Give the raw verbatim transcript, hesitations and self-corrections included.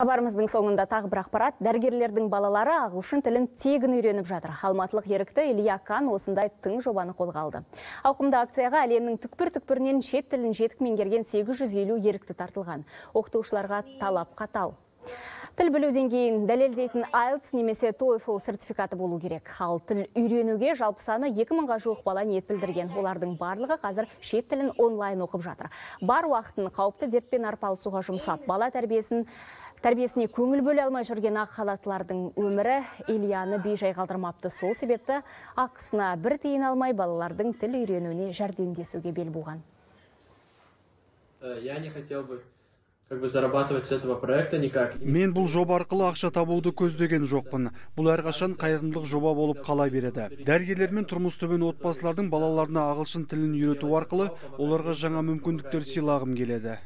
Хабарымыздың соңында тағы бір ақпарат. Дәрігерлердің балалары ағылшын тілін тегін үйреніп жатыр. Алматылық ерікті Илья Кан осындай тың жобаны қолға алды. Ауқымды акцияға әлемнің түкпір-түкпірінен шет тілін жетік меңгерген сегіз жүз елу ерікті тартылған. Оқытушыларға талап қатал. Тіл білу деңгейін дәлелдейтін айлтс немесе TOEFL сертификаты болу керек. Ал тіл үйренуге жалпы саны екі мыңға жуық бала ниет білдірген. Олардың барлығы қазір шет тілін онлайн оқып жатыр. Бар уақытын қауіпті дертпен арпалысуға жұмсап, бала тәрбиесін Тәрбиесіне көңіл бөле алмай жүрген ақ халаттылардың өмірі Ильяны бейжай қалдырмапты. Сол себепті ақысына бір тиын алмай балалардың тіл үйренуіне жәрдемдесуге бел буған. Я не хотел бы как бы зарабатывать с этого проекта никак. Мен бұл жоба арқылы ақша табуды көздеген жоқпын. Бұл әрқашан қайырымдылық жоба болып қала береді. Дәрігерлер мен тұрмыс төмен отбасылардың балаларына ағылшын тілін үйрету арқылы оларға жаңа мүмкіндіктер сыйлағым келеді.